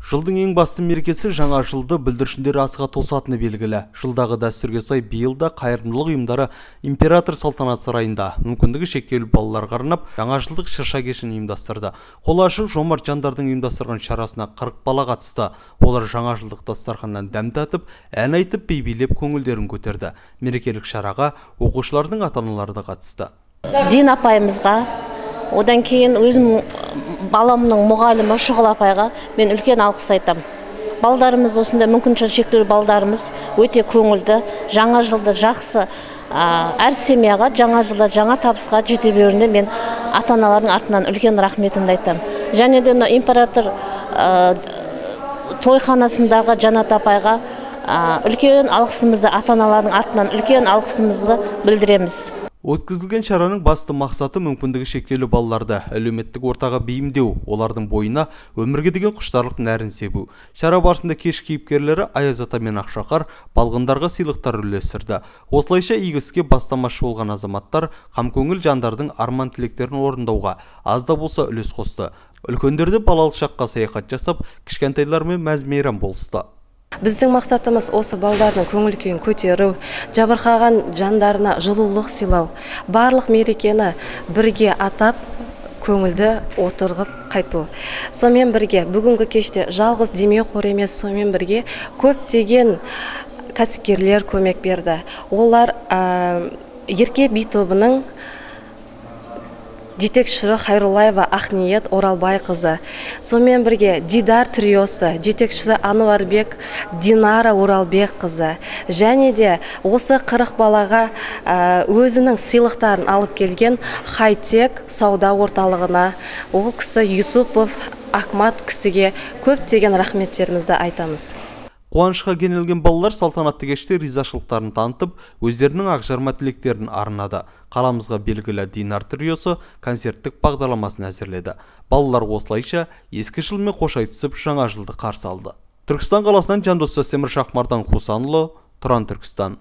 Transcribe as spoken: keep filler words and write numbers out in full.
Жылдың ең басты мерекесі жаңа жылды бүлдіршіндер асыға тосатыны белгілі. Жылдағы дәстүрге сай биылда қайырымдылық ұйымдары император салтанат сарайында мүмкіндігі шектеулі балаларға арнап жаңа жылдық шырша кешін ұйымдастырды. Қолы ашық жомарт жандардың ұйымдастырған шарасына қырық бала қатысты. Олар жаңа жылдық дастарханнан дәм татып, ән айтып, би билеп көңілдерін көтерді. Мерекелік шараға оқушылардың ата-аналары да қатысты. Дин апайымызға, одан кейін өзім баламның мұғалімі Шұғыл апайға мен үлкен алғыс айтам. Балдарымыз осында мүмкіншілігі шектеулі балдарымыз өте көңілді, жаңа жылды жақсы, әр семьяға жаңа жылда жаңа табысқа жете беруіне мен ата-аналардың артынан үлкен рахметімді айтам. Және де император тойханасындағы Жанат апайға үлкен алғысымызды, ата-аналардың артынан үлкен алғысымызды білдіреміз. Өткізілген шараның басты мақсаты мүмкіндігі шектеулі балаларды әлеуметтік ортаға бейімдеу, олардың бойына өмірге деген құштарлық нәрін себу. Шара барысында кеш кейіпкерлері Аяз ата мен Ақшақар балғындарға сыйлықтар үлестірді. Осылайша игі іске бастамашы болған азаматтар қамкөңіл жандардың арман тілектерін орындауға аз да болса үлес қосты. Үлкендерді балалық шаққа саяхат жасап, кішкентайлармен мәз-мейрам болысты. Біздің мақсатымыз осы балдардың көңіл күйін көтеру, жабырқаған жандарына жылулық сыйлау, барлық мерекені бірге атап, көңілді отырғып қайту. Сонымен бірге бүгінгі кеште жалғыз демеу қор емес, сонымен бірге көптеген кәсіпкерлер көмек берді. Олар Ерке би тобының жетекшісі Хайрулаева Ақниет Оралбай қызы. Сонымен бірге Дидар триосы, жетекшісі Ануарбек Динара Оралбек қызы. Және де осы қырық балаға өзінің сыйлықтарын алып келген Хайтек сауда орталығына, ол кісі Юсупов Ахмат кісіге көптеген рахметтерімізді айтамыз. Қуанышқа кенелген балалар салтанатты кеште ризашылықтарын танытып, өздерінің ақжарма тілектерін арнады. Қаламызға белгілі Динар триосы концерттік бағдарламасын әзірледі. Балалар осылайша ескі жылмен қош айтысып жаңа жылды қарсы алды. Түркістан қаласынан Жандос Сәсемір Шахмардан Хусанұлы, Тұран Түркістан.